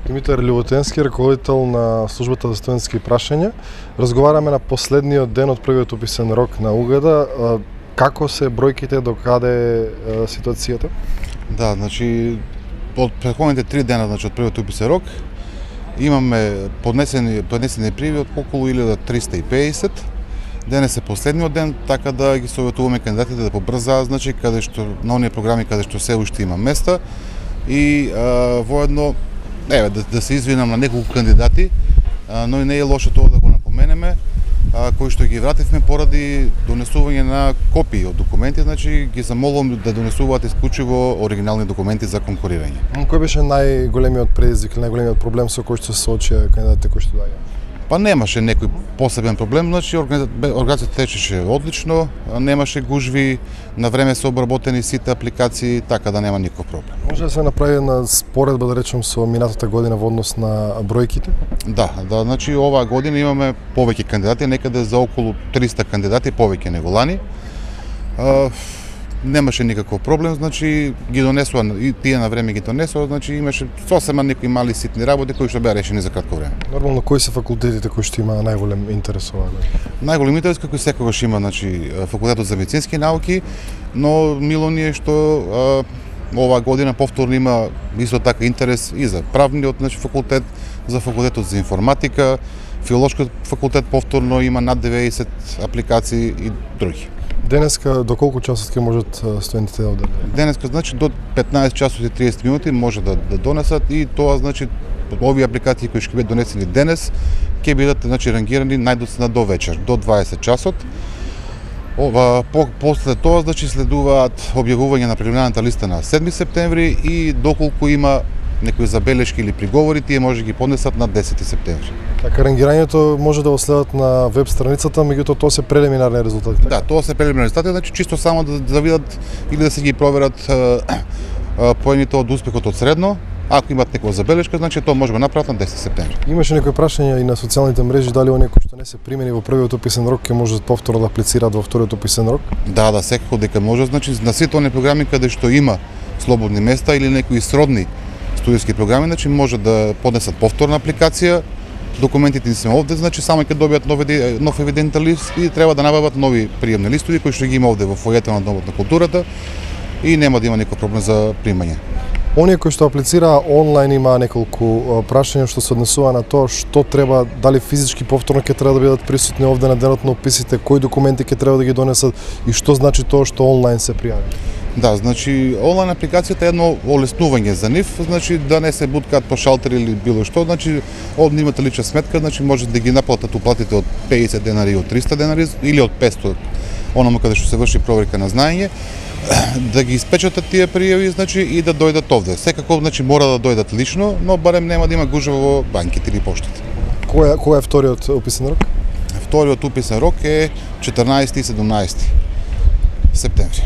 Димитар Љуботенски, раководител на службата за студентски прашања. Разговараме на последниот ден од првиот уписен рок на УГД. Како се бројките, до каде е ситуацијата? Да, значи од претходните 3 дена, значи од првиот уписен рок, имаме поднесени пријави од околу 1350. Денес е последниот ден, така да ги советуваме кандидатите да побрзаат, значи каде што на оние програми каде што се уште има места и воедно да се извинам на неколку кандидати, но и не е лошо тоа да го напоменеме, кои што ги вративме поради донесување на копии од документи, значи ги замолувам да донесуваат исклучиво оригинални документи за конкурирање. Кој беше најголемиот предизвик, најголемиот проблем со кој што се соочија кандидатите кои што доаѓаа? Па немаше некој посебен проблем, значи организацијата течеше одлично, немаше гужви, на време се обработени сите апликации, така да нема никаков проблем. Може да се направи една споредба, да речем, со минатата година во однос на бројките? Да, значи оваа година имаме повеќе кандидати, некаде за околу 300 кандидати повеќе него лани. Немаше никаков проблем, значи ги донесува и тие на време ги донесува, значи имаше сосема некои мали ситни работи кои што беа решени за кратко време. Нормално, кои се факултетите кои што има најголем интерес оваа година? Најголем интерес како секогаш има, значи факултетот за медицински науки, но мило ни е што оваа година повторно има исто така интерес и за правниот, значи факултет, за факултетот за информатика, филолошкиот факултет повторно има над 90 апликации и други. Денеска до колку часот ќе можат студентите да одат? Денеска значи до 15 часот и 30 минути може да донесат и тоа значи овие апликации кои ќе бидат донесени денес ќе бидат значи рангирани најдоцна до вечер, до 20 часот. После тоа значи следуваат објавување на прелиминарната листа на 7 септември и доколку има некои забелешки или приговори, тие може да ги поднесат на 10 септември. Така, рангирањето може да го следат на веб страницата, меѓутоа тоа се прелиминарни резултати. Да, тоа се прелиминарни резултати, значи чисто само да видат или да се ги проверат поените од успехот од средно. Ако имат некоја забелешка, значи тоа може да го направат на 10 септември. Имаше некои прашања и на социјалните мрежи дали оние кои што не се примени во првиот уписен рок ќе можат повторно да аплицираат во вториот уписен рок? Да, секако дека може, значи на сите оние програми каде што има слободни места или некои сродни студентски програми, значи може да поднесат повторна апликација. Документите ни се овде, значи само ќе добијат нов евидентен лист и треба да набават нови приемни листови кои што ги има овде во фојето на Домот на културата и нема да има никаков проблем за примање. Оние кои што аплицираа онлайн има неколку прашања што се однесува на тоа што треба, дали физички повторно ќе треба да бидат присутни овде на денот на уписите, кои документи ќе треба да ги донесат и што значи тоа што онлайн се пријави. Да, значи онлайн апликацијата е едно олеснување за нив, значи да не се буткаат по шалтери или било што, значи овде имате лична сметка, значи може да ги наплатат уплатите од 50 денари и од 300 денари или од 500, оному каде што се врши проверка на знаење, да ги испечатат тие пријави, значи и да дојдат овде. Секако значи мора да дојдат лично, но барем нема да има гужва во банките или поштите. Кој е вториот уписен рок? Вториот уписен рок е 14 и 17 септември.